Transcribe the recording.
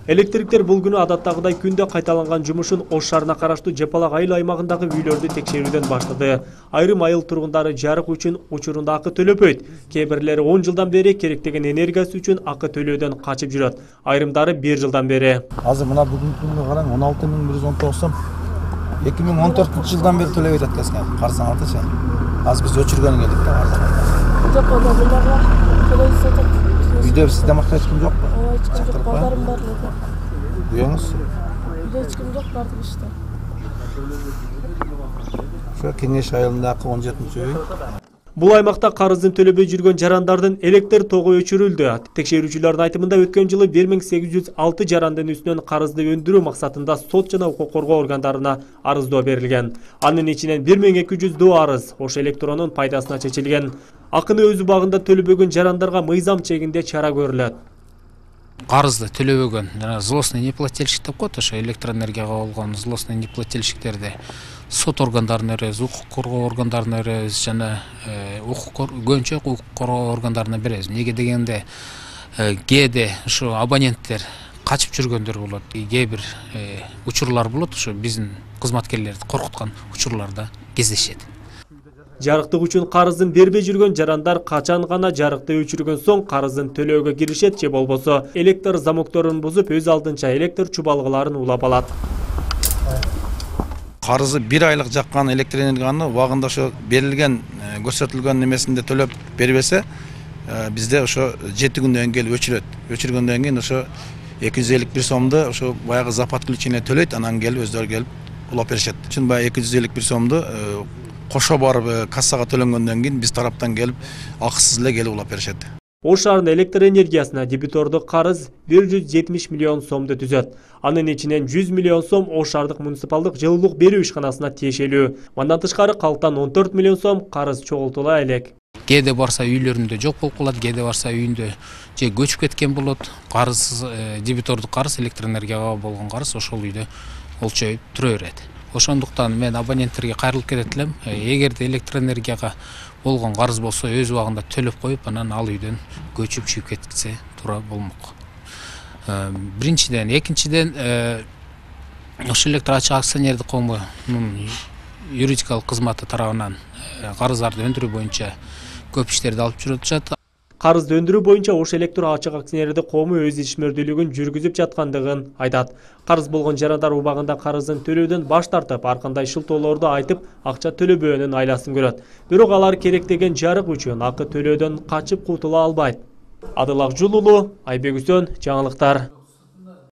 Электриктер бул күнү адаттагыдай күндө кайталанган жумушун Ош шаарына караштуу Жапалак айыл аймагындагы үйлөрдү текшерүүдөн баштады. Айрым айыл тургундары жарык үчүн учурунда акы төлөбөйт. Кээ бирлери 10 жылдан бери керектеген энергиясы үчүн акы төлөөдөн качып жүрөт. Айрымдары 1 жылдан бери. Азыр мына бүгүнкү күнгө караң 16119 сом 2014-жылдан бери төлөп жатат экен. Карасаңарчы. Азыр биз өчүргөн келдик да арзан. Үйдө сизде макта эч ким жокпу? Эч ким жок, балдарым бар эле. Үйөңүз? Үйдө эч ким жок, бардык иште. Ошо Кеңеш айылындагы 17-үй. Бул аймакта карызын төлөбөй жүргөн жарандардын электр тогу өчүрүлдү. Текшерүүчүлөрдүн айтымында өткөн жылы 1806 жарандын үстүнөн карызды өндүрүү максатында сот жана укук коргоо органдарына арыздоо берилген. Анын ичинен 1200 арыз Ош электронун пайдасына чечилген. Акыны өз убагында төлөбөгөн жарандарга мыйзам чегинде чара көрүлөт. Карызды төлөбөгөн жана злостный неплательщик деп коет, ошо электроэнергияга болгон злостный неплательщиктерди сот органдарына беребиз, укук коргоо органдарына беребиз жана көбүнчө укук коргоо органдарына беребиз. Неге дегенде кээде ушу абоненттер качып жүргөндөр болот, кээ бир учурлар болот, ушу биздин кызматкерлерди коркуткан учурларда кездешет. Жарыктык үчүн карызын бербей жүргөн жарандар качан гана жарыкты өчүргөн соң карызын төлөөгө киришет же болбосо электр замокторун бузуп өз алдынча электр чубалгыларын улап алат. Карызы 1 айлык жаккан электр энергияны убагында ошо берилген көрсөтүлгөн немесинде төлөп бербесе, бизде ошо 7 күндөн кийин өчүрөт. Өчүргөндөн кийин ошо 251 сомду ошо баягы за подключение төлөйт, анан келип өздөрү келип улап беришет. Чын баягы 251 сомду кошо барып кассага төлөнгөндөн кийин биз тараптан келип акысыз эле келип улап беришет. Ош шаарынын электр энергиясына дебитордук карыз 170 миллион сомду түзөт. Анын ичинен 100 миллион сом Ош шаардык муниципалдык жылуулук берүү ишканасына тиешелүү. Мындан тышкары калктан 14 миллион сом карыз чогултула элек. Кээде барса үйлөрүндө жок болуп калат, кээде барса үйүндө же көчүп кеткен болот. Карыз дебитордук карыз, электр энергияга болгон карыз ошол үйдө олчоюп тура берет. Ошондуктан мен абоненттерге кайрылып кетет элем. Эгерде электр энергияга болгон карыз болсо өз убагында төлөп коюп, анан ал үйдөн көчүп чүйүп кетсе туура болмок. Биринчиден, экинчиден ошо электр ачык акционердик коомунун юридикалык кызматы тарабынан карыздарды өндүрүү боюнча көп иштерди алып жүрүшат. Карызды өндүрүү боюнча Ош электр ачык акционердик коому өз ишмердүүлүгүн жүргүзүп жаткандыгын айтат. Карыз болгон жарандар убагында карызын төлөөдөн баш тартып, ар кандай шылтоолорду айтып, акча төлөбөөнүн айласын көрөт. Бирок алар керектеген жарык үчүн акы төлөөдөн качып кутула албайт. Адыл Акжул уулу, Айбек Үсөн, жаңылыктар.